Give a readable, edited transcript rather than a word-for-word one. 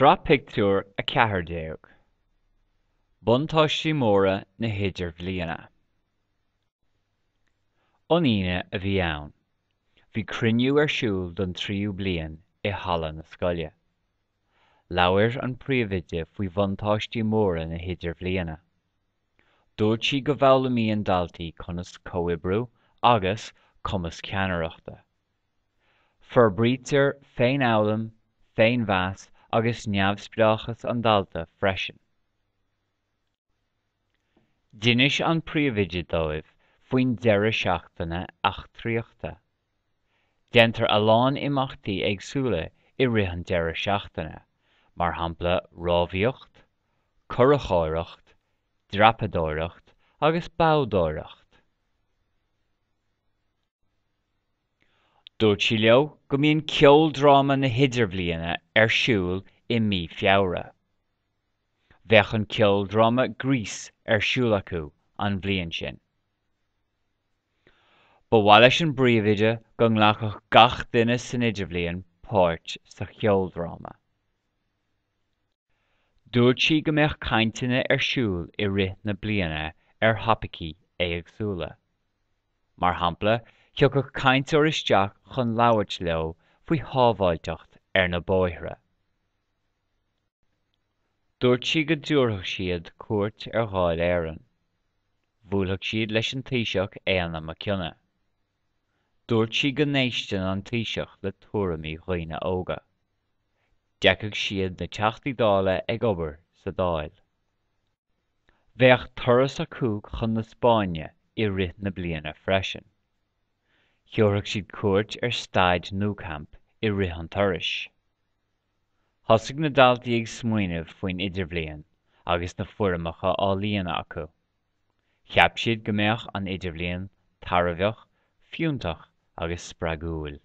Sraith Pictiúr 14. Buntáistí Móra na hIdirbhliana. An Aoine a bhí ann. Bhí cruinniú ar siúl don tríú bliain i halla na scoile. Labhair an príomhoide faoi bhuntáistí móra na hIdirbhliana. Dúirt sí go bhfoghlaimíonn daltaí conas comhoibriú agus cumas ceannaireachta. Forbraítear féinfhoghlaim, féinmheas agus neamhspleáchas an dalta freisin. D'inis an príomhoide dóibh faoin deireadh seachtaine eachtraíochta. Déantar a lán imeachtaí éagsúla i rith an deireadh seachtaine, mar shampla rámhaíocht, curachóireacht, dreapadóireacht agus boghdóireacht. Dúirt sí leo go mbíonn ceoldráma na hIdirbhliana ar siúl i mí Feabhra. Bheadh an ceoldráma Grease ar siúl acu an bhliain sin. Ba mhaith leis an bpríomhoide go nglacfadh gach duine san Idirbhliain páirt sa cheoldráma. Dúirt sí go mbeadh cainteanna ar siúl i rith na bliana ar thopaicí éagsúla. Mar shampla, thiocfadh cainteoir isteach chun labhairt leo faoi shábháilteacht ar na bóithre. Dúirt sí go dtabharfadh siad cuairt ar Dháil Éireann. Bhuailfeadh siad leis an Taoiseach Éanna Mac Cionnaith. Dúirt sí go n-éisteann an Taoiseach le tuairimí dhaoine óga. D'fheicfeadh siad na Teachtaí Dála ag obair sa Dáil. Bheadh turas acu chun na Spáinne i rith na bliana freisin. Thabharfadh siad cuairt ar staid Nou Camp i rith an turais. Thosaigh na daltaí ag smaoineamh faoin Idirbhliain agus na foirmeacha á líonadh acu. Cheap siad go mbeadh an Idirbhliain tairbheach, fiúntach agus spreagúil.